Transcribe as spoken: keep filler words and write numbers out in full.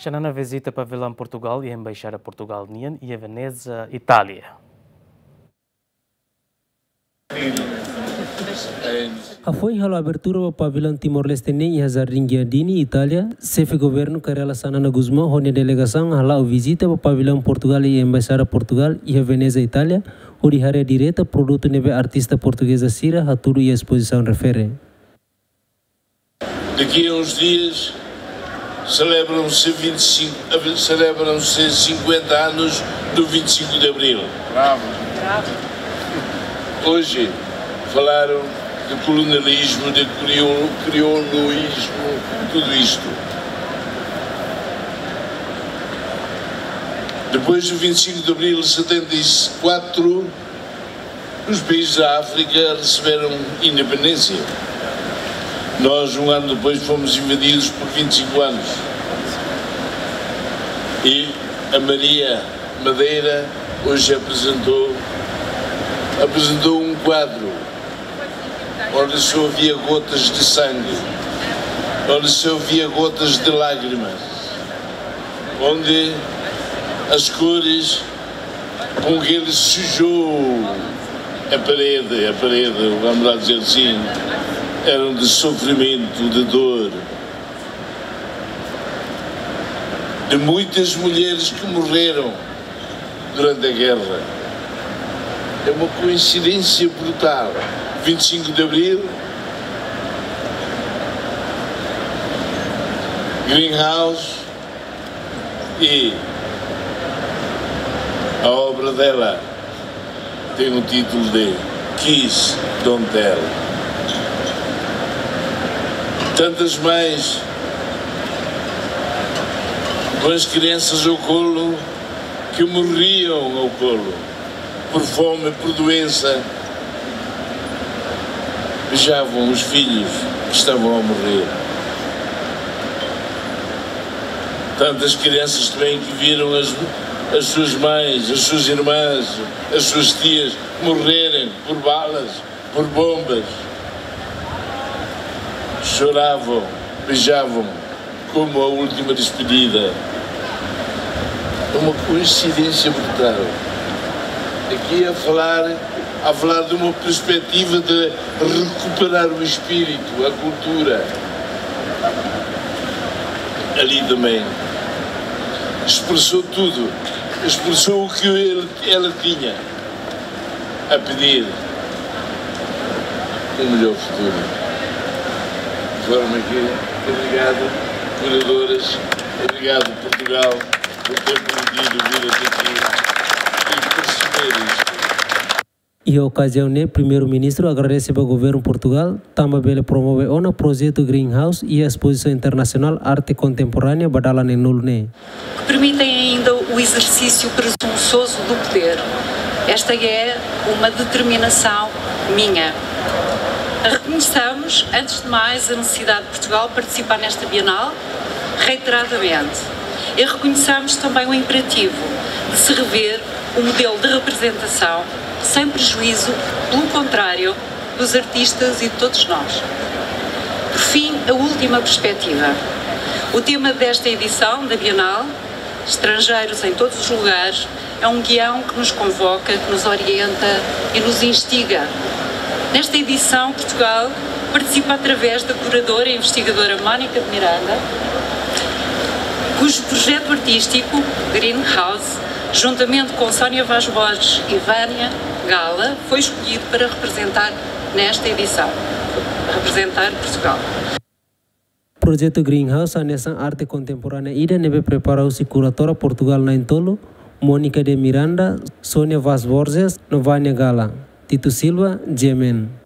Xanana vizita pavilaun Portugál iha Embaixada Portugál nian iha Veneza, Itália. Hafoin halo abertura ba pavilaun Timor-Leste nian iha Jardín Giardini, Itália, Xefe Governu Kay Rala Xanana Gusmão ho nia delegasaun hala'o vizita ba pavilaun Portugál iha Embaixada Portugál iha Veneza, Itália, hodi haree direta produtu ne'ebé artista portugeza sira hatudu iha espozisaun refere. Daqui a uns dias celebram-se vinte e cinco, celebram-se cinquenta anos do vinte e cinco de Abril. Bravo. Hoje falaram de colonialismo, de criou-, criouloísmo, tudo isto. Depois do vinte e cinco de Abril de setenta e quatro, os países da África receberam independência. Nós, um ano depois, fomos invadidos por vinte e cinco anos. E a Maria Madeira hoje apresentou, apresentou um quadro onde só havia gotas de sangue, onde só havia gotas de lágrimas, onde as cores com que ele sujou a parede, a parede, vamos lá dizer assim, eram de sofrimento, de dor, de muitas mulheres que morreram durante a guerra. É uma coincidência brutal. Vinte e cinco de Abril, Greenhouse, e a obra dela tem o título de Kiss Don't Tell. Tantas mães com as crianças ao colo que morriam ao colo, por fome, por doença, beijavam os filhos que estavam a morrer. Tantas crianças também que viram as, as suas mães, as suas irmãs, as suas tias morrerem por balas, por bombas. Choravam, beijavam como a última despedida. É uma coincidência brutal. Aqui a falar, a falar de uma perspectiva de recuperar o espírito, a cultura. Ali também expressou tudo, expressou o que ele, ela tinha a pedir um melhor futuro. De forma que, obrigado, curadores, obrigado, Portugal, por ter permitido vir até aqui e perceber isto. Iha okaziaun ne'e, Primeiru-Ministru agradese ba Governu Portugál, tanba bele promove ona projetu Greenhouse iha Espozisaun Internasionál Arte Kontemporánea ba dalan neenulu ne'e. Que permitem ainda o exercício presunçoso do poder. Esta é uma determinação minha. Reconheçamos, antes de mais, a necessidade de Portugal participar nesta Bienal, reiteradamente. E reconheçamos também o imperativo de se rever o modelo de representação, sem prejuízo, pelo contrário, dos artistas e de todos nós. Por fim, a última perspectiva. O tema desta edição da Bienal, Estrangeiros em Todos os Lugares, é um guião que nos convoca, que nos orienta e nos instiga. Nesta edição, Portugal participa através da curadora e investigadora Mónica de Miranda, cujo projeto artístico, Greenhouse, juntamente com Sónia Vaz Borges e Vânia Gala, foi escolhido para representar nesta edição, representar Portugal. Projetu Greenhouse hanesan arte kontemporánea ida ne'ebé prepara husi kuradora Portugál na'in-tolu, Mónica de Miranda, Sónia Vaz Borges, no Vânia Gala. Tito Silva, G M N.